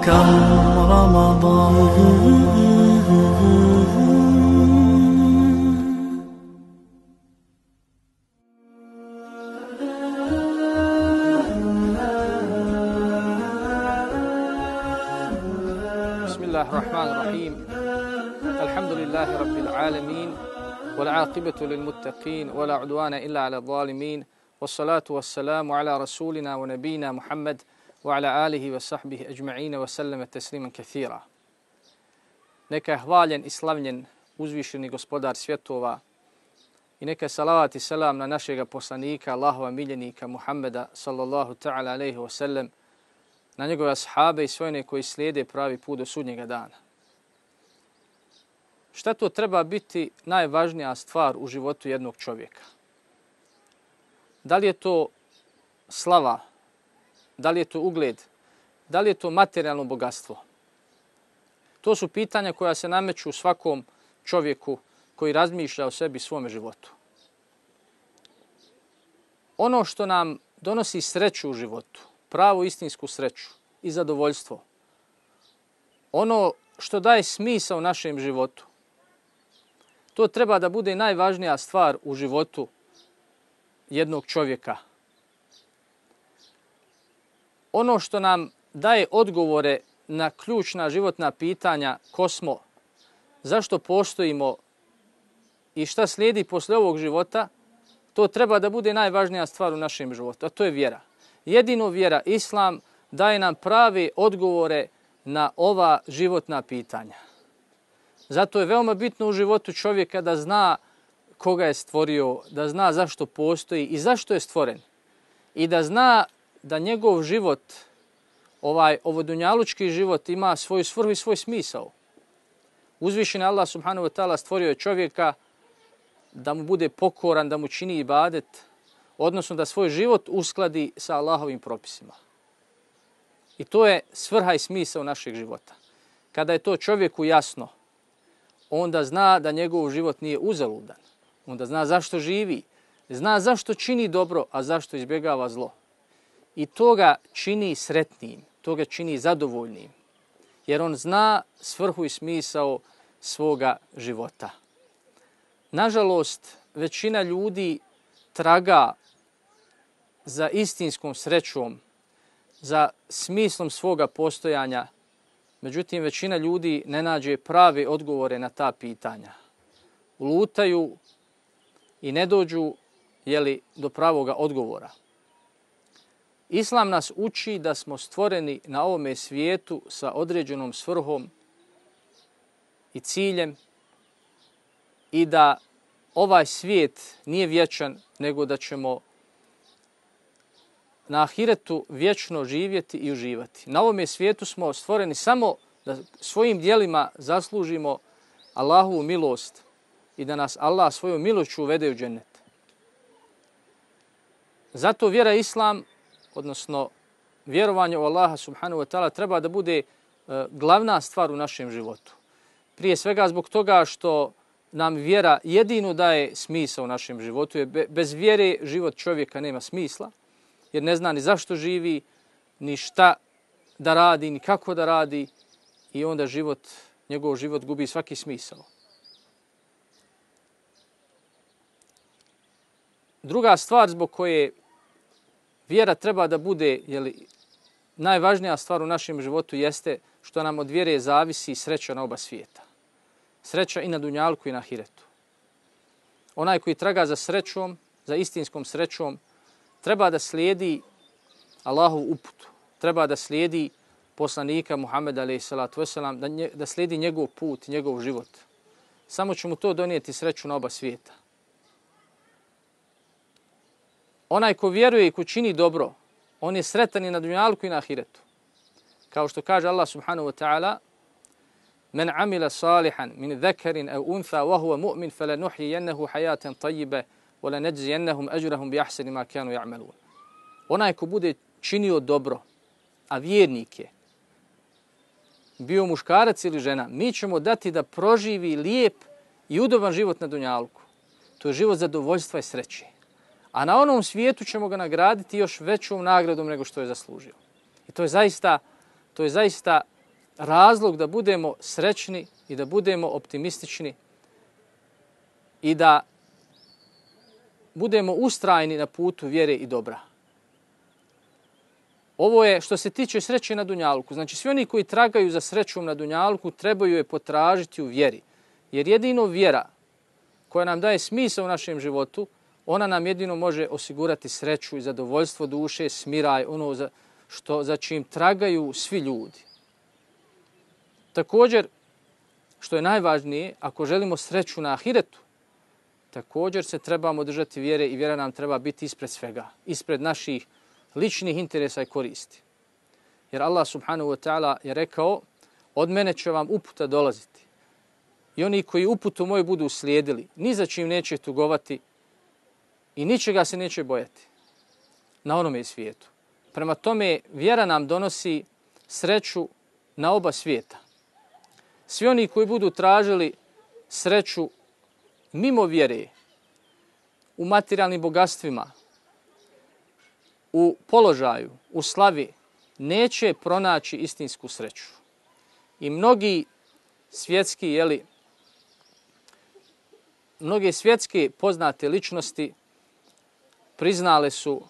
كم رمضان. بسم الله الرحمن الرحيم. الحمد لله رب العالمين والعاقبة للمتقين ولا عدوان إلا على الظالمين والصلاة والسلام على رسولنا ونبينا محمد وعلى آله وصحبه أجمعين وسلم تسليما كثيرا. Neka je hvaljen i slavljen uzvišeni gospodar svjetova i neka salavat i selam na našega poslanika, Allahova miljenika Muhammeda sallallahu ta'ala alaihi wa sallam, na njegove ashabe i sve one koji slijede pravi put do sudnjega dana. Šta to treba biti najvažnija stvar u životu jednog čovjeka? Da li je to slava? Da li je to ugled? Da li je to materijalno bogatstvo? To su pitanja koja se nameću svakom čovjeku koji razmišlja o sebi i svome životu. Ono što nam donosi sreću u životu, pravu istinsku sreću i zadovoljstvo, ono što daje smisao našem životu, to treba da bude najvažnija stvar u životu jednog čovjeka. Ono što nam daje odgovore na ključna životna pitanja, ko smo, zašto postojimo i šta slijedi posle ovog života, to treba da bude najvažnija stvar u našem životu, a to je vjera. Jedino vjera, Islam, daje nam prave odgovore na ova životna pitanja. Zato je veoma bitno u životu čovjeka da zna koga je stvorio, da zna zašto postoji i zašto je stvoren. I da zna da njegov život, ovodunjalučki život, ima svoju svrhu i svoj smisao. Uzvišeni Allah subhanahu wa ta'ala stvorio je čovjeka da mu bude pokoran, da mu čini ibadet, odnosno da svoj život uskladi sa Allahovim propisima. I to je svrha i smisao našeg života. Kada je to čovjeku jasno, onda zna da njegov život nije uzaludan. Onda zna zašto živi, zna zašto čini dobro, a zašto izbjegava zlo. I to ga čini sretnim, to ga čini zadovoljnim, jer on zna svrhu i smisao svoga života. Nažalost, većina ljudi traga za istinskom srećom, za smislom svoga postojanja. Međutim, većina ljudi ne nađe prave odgovore na ta pitanja. Lutaju i ne dođu do pravoga odgovora. Islam nas uči da smo stvoreni na ovome svijetu sa određenom svrhom i ciljem i da ovaj svijet nije vječan, nego da ćemo na ahiretu vječno živjeti i uživati. Na ovome svijetu smo stvoreni samo da svojim djelima zaslužimo Allahovu milost i da nas Allah svojom milošću uvede u džennet. Zato vjera Islam, odnosno vjerovanje u Allaha subhanahu wa ta'ala, treba da bude glavna stvar u našem životu. Prije svega zbog toga što nam vjera jedino daje smisao u našem životu. Bez vjere život čovjeka nema smisla, jer ne zna ni zašto živi, ni šta da radi, ni kako da radi, i onda njegov život gubi svaki smisao. Druga stvar zbog koje vjera treba da bude najvažnija stvar u našem životu jeste što nam od vjere zavisi sreća na oba svijeta. Sreća i na dunjalku i na ahiretu. Onaj koji traga za srećom, za istinskom srećom, treba da slijedi Allahovu uputu, treba da slijedi poslanika Muhammeda alejhi salatu vesselam, da slijedi njegov put, njegov život. Samo će mu to donijeti sreću na oba svijeta. Onaj ko vjeruje i ko čini dobro, on je sretan i na dunjalku i na ahiretu. Kao što kaže Allah subhanahu wa ta'ala: "Men amila salihan min zakarin aw untha wa huwa mu'min falanuhyiyannahu hayatan tayyibah wa lanajziyannahum ajrahum bi ahsani ma kanu ya'malun." Onaj ko bude činio dobro, a vjernik je, bio muškarac ili žena, mi ćemo dati da proživi lijep i udoban život na dunjalku. To je život zadovoljstva i sreće. A na onom svijetu ćemo ga nagraditi još većom nagradom nego što je zaslužio. I to je zaista razlog da budemo srećni i da budemo optimistični i da budemo ustrajni na putu vjere i dobra. Ovo je što se tiče sreće na dunjaluku. Znači, svi oni koji tragaju za srećom na dunjaluku trebaju je potražiti u vjeri. Jer jedino vjera koja nam daje smisao u našem životu, ona nam jedino može osigurati sreću i zadovoljstvo duše, smiraj, ono za čim tragaju svi ljudi. Također, što je najvažnije, ako želimo sreću na ahiretu, također se trebamo držati vjere i vjera nam treba biti ispred svega, ispred naših ličnih interesa i koristi. Jer Allah subhanahu wa ta'ala je rekao, od mene će vam uputa dolaziti. I oni koji uputu moju budu slijedili, ni za čim neće tugovati i ničega se neće bojati na onome svijetu. Prema tome, vjera nam donosi sreću na oba svijeta. Svi oni koji budu tražili sreću mimo vjere, u materijalnim bogatstvima, u položaju, u slavi, neće pronaći istinsku sreću. I mnoge svjetske poznate ličnosti priznale su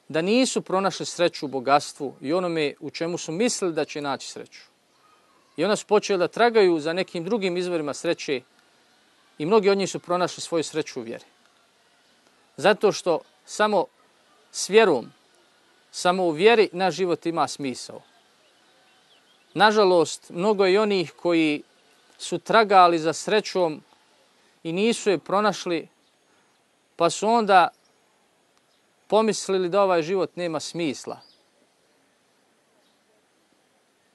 da nisu pronašli sreću u bogatstvu i onome u čemu su mislili da će naći sreću. I onda su počeli da tragaju za nekim drugim izvorima sreće i mnogi od njih su pronašli svoju sreću u vjeri. Zato što samo s vjerom, samo u vjeri naš život ima smisao. Nažalost, mnogo je onih koji su tragali za srećom i nisu je pronašli, pa su onda pomislili da ovaj život nema smisla.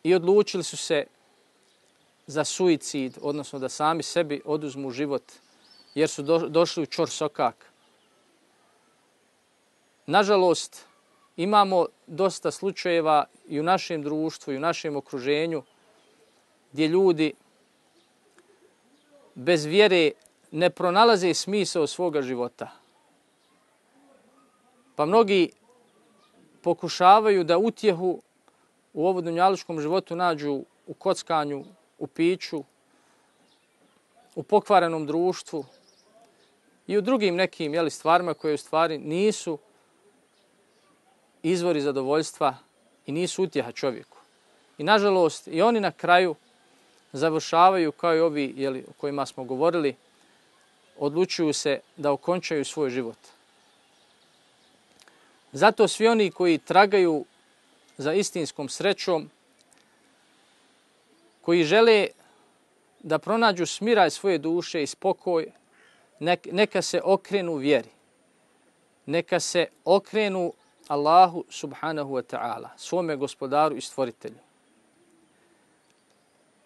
I odlučili su se za suicid, odnosno da sami sebi oduzmu život, jer su došli u ćorsokak. Nažalost, imamo dosta slučajeva i u našem društvu i u našem okruženju gdje ljudi bez vjere ne pronalaze smisao svoga života. Pa mnogi pokušavaju da utjehu u ovom dunjalučkom životu nađu u kockanju, u piću, u pokvarenom društvu i u drugim nekim stvarima koje u stvari nisu izvori zadovoljstva i nisu utjeha čovjeku. I nažalost i oni na kraju završavaju kao i ovi o kojima smo govorili, odlučuju se da okončaju svoj život. Zato svi oni koji tragaju za istinskom srećom, koji žele da pronađu smiraj svoje duše i spokoj, neka se okrenu vjeri. Neka se okrenu Allahu subhanahu wa ta'ala, svome gospodaru i stvoritelju.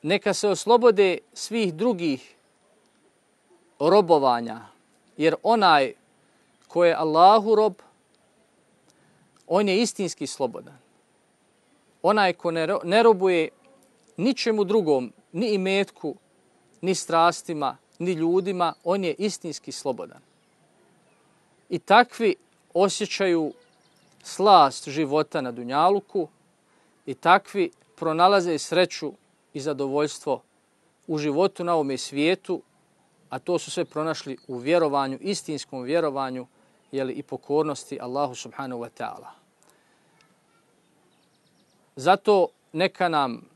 Neka se oslobode svih drugih robovanja, jer onaj ko je Allahu rob, on je istinski slobodan. Onaj ko ne robuje ničemu drugom, ni imetku, ni strastima, ni ljudima, on je istinski slobodan. I takvi osjećaju slast života na dunjaluku i takvi pronalaze sreću i zadovoljstvo u životu na ovome svijetu, a to su sve pronašli u vjerovanju, istinskom vjerovanju, i pokornosti Allahu subhanahu wa ta'ala. Zato neka nam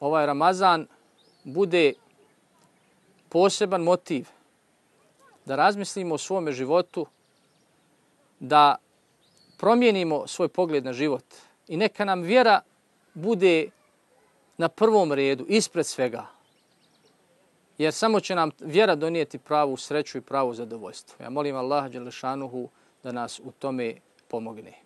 ovaj Ramazan bude poseban motiv da razmislimo o svome životu, da promijenimo svoj pogled na život i neka nam vjera bude na prvom redu, ispred svega. Jer samo će nam vjera donijeti pravu sreću i pravu zadovoljstvo. Ja molim Allaha dželle šanuhu da nas u tome pomogne.